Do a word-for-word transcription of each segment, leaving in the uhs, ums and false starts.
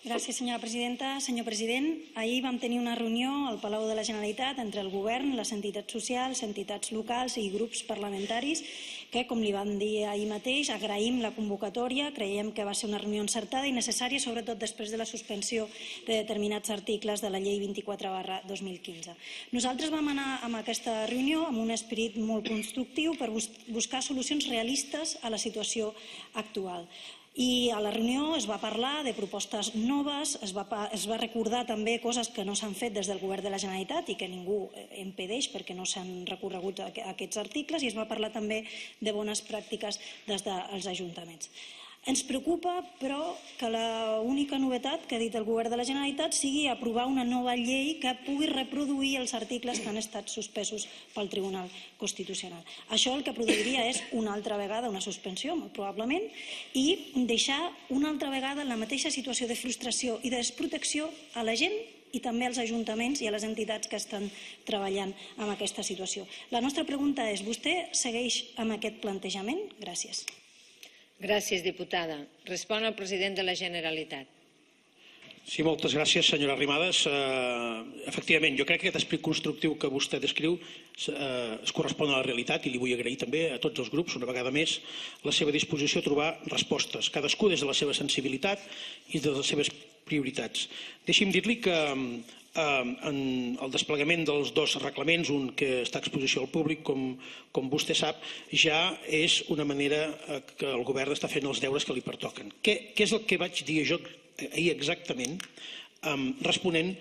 Gràcies, senyora presidenta. Senyor president, ahir vam tenir una reunió al Palau de la Generalitat entre el govern, les entitats socials, entitats locals i grups parlamentaris que, com li vam dir ahir mateix, agraïm la convocatòria, creiem que va ser una reunió encertada i necessària, sobretot després de la suspensió de determinats articles de la llei vint-i-quatre barra dos mil quinze. Nosaltres vam anar a aquesta reunió amb un esperit molt constructiu per buscar solucions realistes a la situació actual. I a la reunió es va parlar de propostes noves, es va, es va recordar també coses que no s'han fet des del govern de la Generalitat i que ningú impedeix perquè no s'han recorregut aquests articles, i es va parlar també de bones pràctiques des dels ajuntaments. Ens preocupa, però, que l'única novetat que ha dit el govern de la Generalitat sigui aprovar una nova llei que pugui reproduir els articles que han estat suspesos pel Tribunal Constitucional. Això el que produiria és una altra vegada una suspensió, molt probablement, i deixar una altra vegada en la mateixa situació de frustració i de desprotecció a la gent i també als ajuntaments i a les entitats que estan treballant en aquesta situació. La nostra pregunta és: vostè segueix amb aquest plantejament? Gràcies. Gràcies, diputada. Respon el president de la Generalitat. Sí, moltes gràcies, senyora Arrimadas. Efectivament, jo crec que aquest esperit constructiu que vostè descriu es correspon a la realitat i li vull agrair també a tots els grups, una vegada més, la seva disposició a trobar respostes, cadascú des de la seva sensibilitat i de les seves prioritats. Deixi'm dir-li que en el desplegament dels dos reglaments, un que està a exposició al públic, com vostè sap, ja és una manera que el govern està fent els deures que li pertoquen. Què és el que vaig dir jo ahir exactament, responent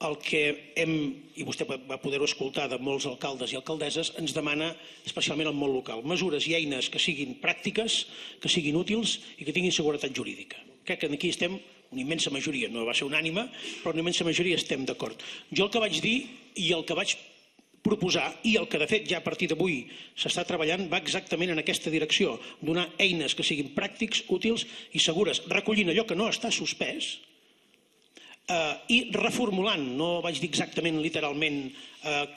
al que hem, i vostè va poder-ho escoltar de molts alcaldes i alcaldesses, ens demana especialment el món local. Mesures i eines que siguin pràctiques, que siguin útils i que tinguin seguretat jurídica. Crec que aquí estem una immensa majoria, no va ser unànime, però una immensa majoria estem d'acord. Jo el que vaig dir i el que vaig proposar, i el que de fet ja a partir d'avui s'està treballant, va exactament en aquesta direcció, donar eines que siguin pràctics, útils i segures, recollint allò que no està suspès i reformulant, no vaig dir exactament literalment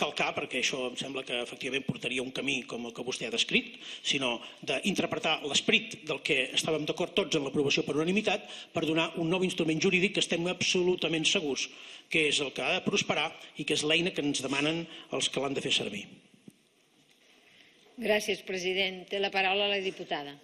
calcar, perquè això em sembla que efectivament portaria un camí com el que vostè ha descrit, sinó d'interpretar l'esperit del que estàvem d'acord tots en l'aprovació per unanimitat per donar un nou instrument jurídic que estem absolutament segurs que és el que ha de prosperar i que és l'eina que ens demanen els que l'han de fer servir. Gràcies, president. Té la paraula la diputada.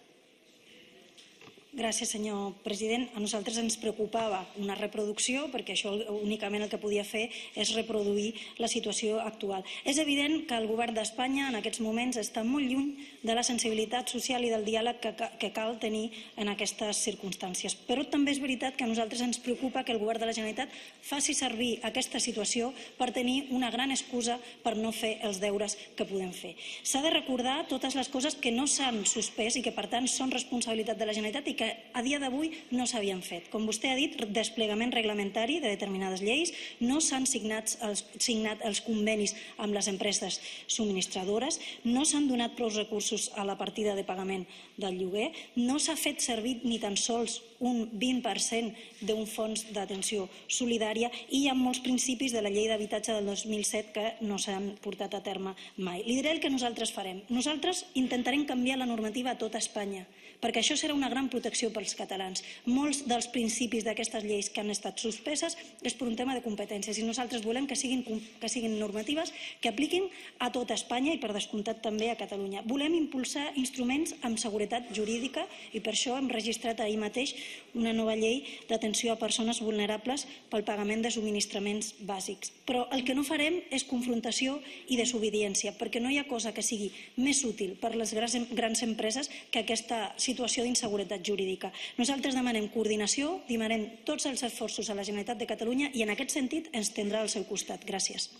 Gràcies, senyor president. A nosaltres ens preocupava una reproducció, perquè això únicament el que podia fer és reproduir la situació actual. És evident que el govern d'Espanya en aquests moments està molt lluny de la sensibilitat social i del diàleg que cal tenir en aquestes circumstàncies. Però també és veritat que a nosaltres ens preocupa que el govern de la Generalitat faci servir aquesta situació per tenir una gran excusa per no fer els deures que podem fer. S'ha de recordar totes les coses que no s'han suspès i que, per tant, són responsabilitat de la Generalitat i que a dia d'avui no s'havien fet. Com vostè ha dit, desplegament reglamentari de determinades lleis, no s'han signat els convenis amb les empreses subministradores, no s'han donat prou recursos a la partida de pagament del lloguer, no s'ha fet servir ni tan sols un vint per cent d'un fons d'atenció solidària i hi ha molts principis de la llei d'habitatge del dos mil set que no s'han portat a terme mai. Li diré el que nosaltres farem. Nosaltres intentarem canviar la normativa a tota Espanya, perquè això serà una gran protecció pels catalans. Molts dels principis d'aquestes lleis que han estat suspeses és per un tema de competències i nosaltres volem que siguin normatives que apliquin a tota Espanya i per descomptat també a Catalunya. Volem impulsar instruments amb seguretat jurídica i per això hem registrat ahir mateix una nova llei d'atenció a persones vulnerables pel pagament de subministraments bàsics. Però el que no farem és confrontació i desobediència, perquè no hi ha cosa que sigui més útil per les grans empreses que aquesta situació d'inseguretat jurídica. Nosaltres demanem coordinació, demanem tots els esforços a la Generalitat de Catalunya i en aquest sentit ens tindrà al seu costat. Gràcies.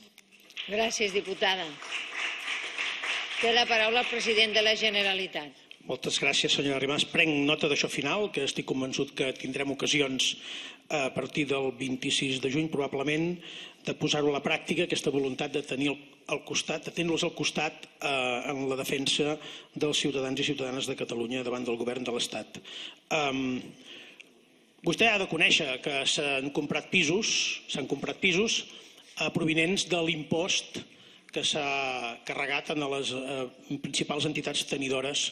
Gràcies, diputada. Té la paraula el president de la Generalitat. Moltes gràcies, senyora Arrimadas. Prenc nota d'això final, que estic convençut que tindrem ocasions a partir del vint-i-sis de juny, probablement, de posar-ho a la pràctica, aquesta voluntat de tenir al costat, de tenir-los al costat en la defensa dels ciutadans i ciutadanes de Catalunya davant del govern de l'Estat. Vostè ha de conèixer que s'han comprat pisos, s'han comprat pisos provinents de l'impost que s'ha carregat en les principals entitats tenidores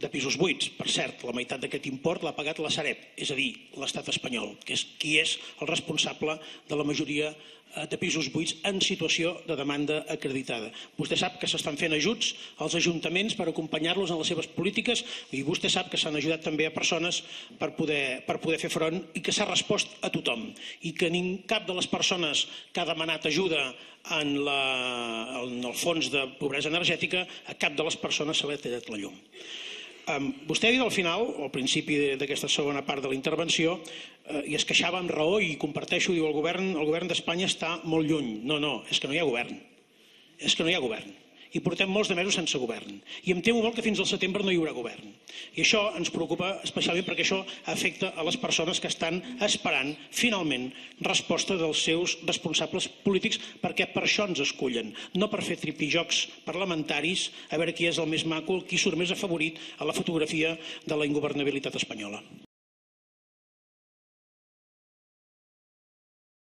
de pisos buits. Per cert, la meitat d'aquest import l'ha pagat la Sareb, és a dir, l'estat espanyol, que és qui és el responsable de la majoria de pisos buits en situació de demanda acreditada. Vostè sap que s'estan fent ajuts als ajuntaments per acompanyar-los en les seves polítiques i vostè sap que s'han ajudat també a persones per poder, per poder fer front i que s'ha respost a tothom i que ni cap de les persones que ha demanat ajuda en, la, en el fons de pobresa energètica, a cap de les persones se li ha tallat la llum. Um, vostè ha dit al final, o al principi d'aquesta segona part de la intervenció, uh, i es queixava amb raó i comparteixo, diu el govern, el govern d'Espanya està molt lluny. No, no, és que no hi ha govern. És que no hi ha govern. I portem molts de mesos sense govern. I em temo molt que fins al setembre no hi haurà govern. I això ens preocupa especialment perquè això afecta a les persones que estan esperant, finalment, resposta dels seus responsables polítics, perquè per això ens escullen, no per fer tripijocs parlamentaris, a veure qui és el més maco, qui surt més afavorit a la fotografia de la ingovernabilitat espanyola.